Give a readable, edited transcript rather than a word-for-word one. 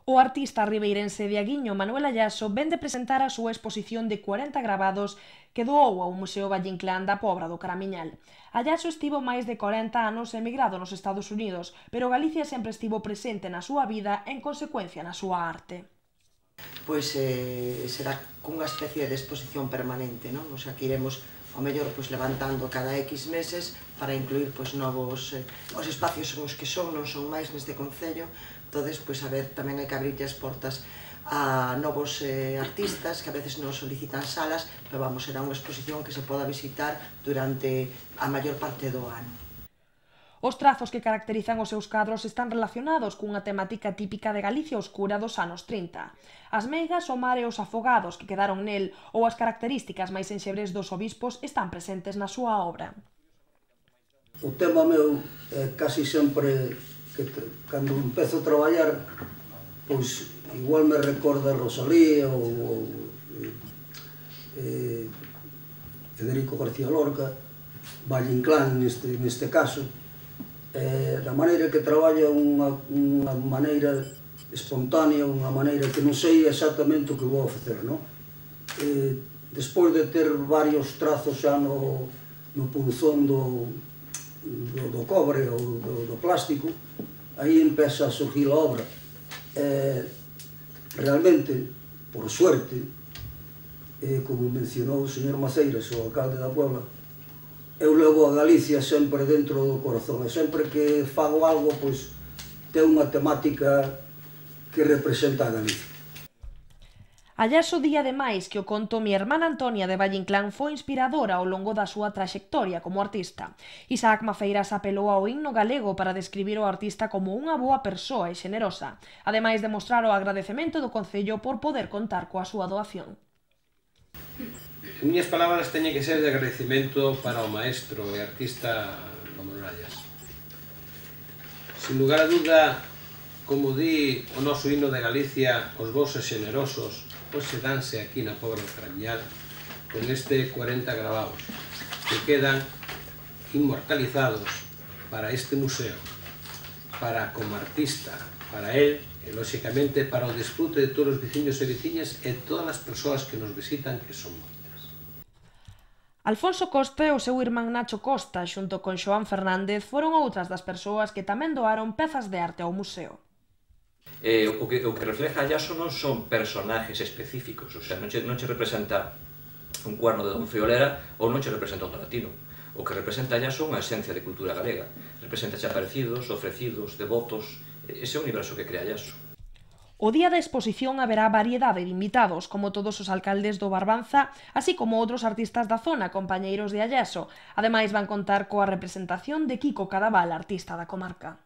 O artista ribeirense de Aguiño, Manuel Allaso, vén de presentar a súa exposición de 40 gravados que doou ao Museo Valle Inclán da Pobra do Caramiñal. Allaso estivo máis de 40 anos emigrado nos Estados Unidos, pero Galicia sempre estivo presente na súa vida e, en consecuencia, na súa arte. Pois será cunha especie de exposición permanente, non? O sea, que iremos ao mellor levantando cada X meses para incluir novos os espacios son os que son, non son máis neste concello. Entonces, a ver, tamén hai que abrirlle as portas a novos artistas que a veces nos solicitan salas, pero vamos, será unha exposición que se poda visitar durante a maior parte do ano. Os trazos que caracterizan os seus cadros están relacionados cunha temática típica de Galicia oscura dos anos 30. As meigas, o mar e os afogados que quedaron nel ou as características máis enxebres dos obispos están presentes na súa obra. O tema meu é casi sempre que cando empezo a traballar, pois igual me recorda Rosalía ou Federico García Lorca, Valle Inclán neste caso. Da maneira que traballa unha maneira espontánea, unha maneira que non sei exactamente o que vou facer, non? Despois de ter varios trazos xa no punzón do cobre ou do plástico, aí empeza a surgir a obra. Realmente, por suerte, como mencionou o señor Maceiras, o alcalde da Puebla, eu levo a Galicia sempre dentro do corazón, e sempre que fago algo, pois, ten unha temática que representa a Galicia. Allaso di ademais que o conto Mi hermana Antonia de Valle Inclán foi inspiradora ao longo da súa traxectoria como artista. Isaac Maceiras apelou ao himno galego para describir o artista como unha boa persoa e xenerosa, ademais de mostrar o agradecemento do Concello por poder contar coa súa doación. As miñas palabras teñen que ser de agradecemento para o maestro e artista Manuel Allaso. Sin lugar a duda, como di o noso himno de Galicia, os vosos xenerosos, pois se danse aquí na Pobra do Caramiñal con este 40 gravados que quedan inmortalizados para este museo, para como artista, para él e, lóxicamente, para o disfrute de todos os veciños e veciñas e todas as persoas que nos visitan, que son moitas. Alfonso Costa e o seu irmán Nacho Costa, xunto con Xoán Fernández, foron outras das persoas que tamén doaron pezas de arte ao museo. O que refleja Allaso non son personajes específicos, o sea, non che representa un cuerno de Don Friolera ou non che representa un Donatino. O que representa Allaso é unha esencia de cultura galega. Representa aparecidos, ofrecidos, devotos, ese é o universo que crea Allaso. O día da exposición haberá variedade de invitados, como todos os alcaldes do Barbanza, así como outros artistas da zona, compañeiros de Allaso. Ademais, van contar coa representación de Kiko Cadaval, artista da comarca.